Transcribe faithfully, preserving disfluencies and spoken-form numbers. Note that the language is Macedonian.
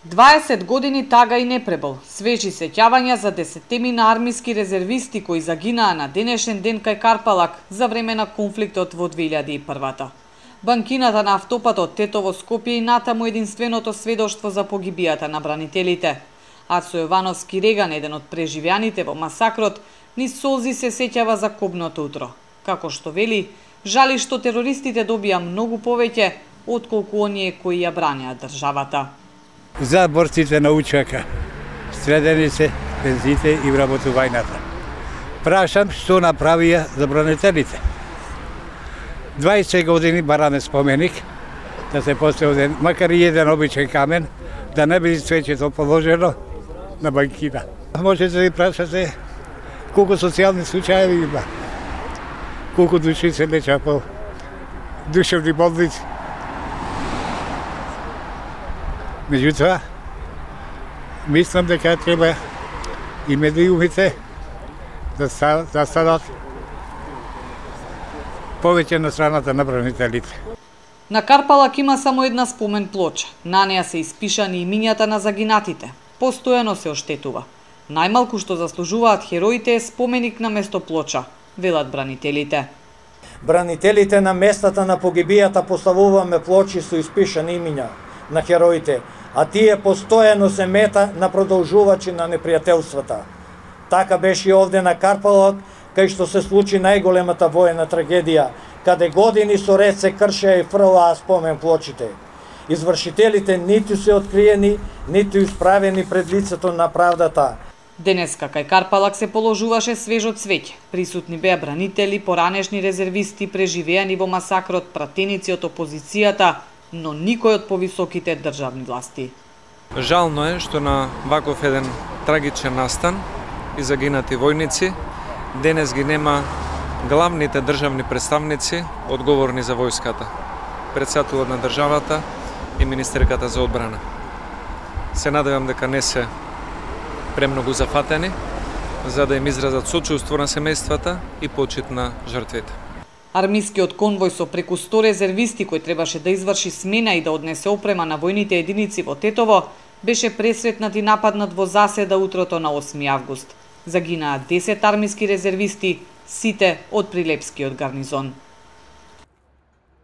дваесет години тага и не пребол. Свежи сеќавања за десеттемина армиски резервисти кои загинаа на денешен ден кај Карпалак за време на конфликтот во две илјади и прва. Банкината на автопатот Тетово Скопје и натаму единственото сведоштво за погибијата на бранителите. Арсо Јовановски Реган, еден од преживеаните во масакрот, низ солзи се сеќава за кобното утро. Како што вели, жали што терористите добија многу повеќе отколку оние кои ја бранеа државата. За борците на учака, стредени се пензите и вработувањата. Прашам што направија за бранителите. дваесет години бараме споменик, да се постави макар и еден обичен камен, да не биде цвеќето положено на банкина. Можете да ви прашате колку социјални случаи има, колку души се лечат по душевни болници. Меѓутоа, мислам дека треба и медиумите да станат повеќе на страната на бранителите. На Карпалак има само една спомен плоча. На неа се испишани имињата на загинатите. Постојано се оштетува. Најмалку што заслужуваат хероите е споменик на место плоча, велат бранителите. Бранителите на местата на погибијата поставуваме плочи со испишани имиња на хероите, а тие постојано се мета на продолжувачи на непријателствата. Така беше и овде на Карпалак, кај што се случи најголемата воена трагедија, каде години со ред се кршеа и фрлаа спомен плочите. Извршителите ниту се откриени, ниту исправени пред лицето на правдата. Денеска кај Карпалак се положуваше свежо цвеќе. Присутни беа бранители, поранешни резервисти, преживеани во масакрот, пратеници од опозицијата, но никој од повисоките државни власти. Жално е што на ваков еден трагичен настан и загинати војници денес ги нема главните државни представници одговорни за војската, претседателот на државата и министерката за одбрана. Се надевам дека не се премногу зафатени за да им изразат сочувство на семејствата и почит на жртвите. Армискиот конвој со преку сто резервисти кој требаше да изврши смена и да однесе опрема на војните единици во Тетово беше пресретнат и нападнат во заседа утрото на осми август. Загинаа десет армиски резервисти, сите од Прилепскиот гарнизон.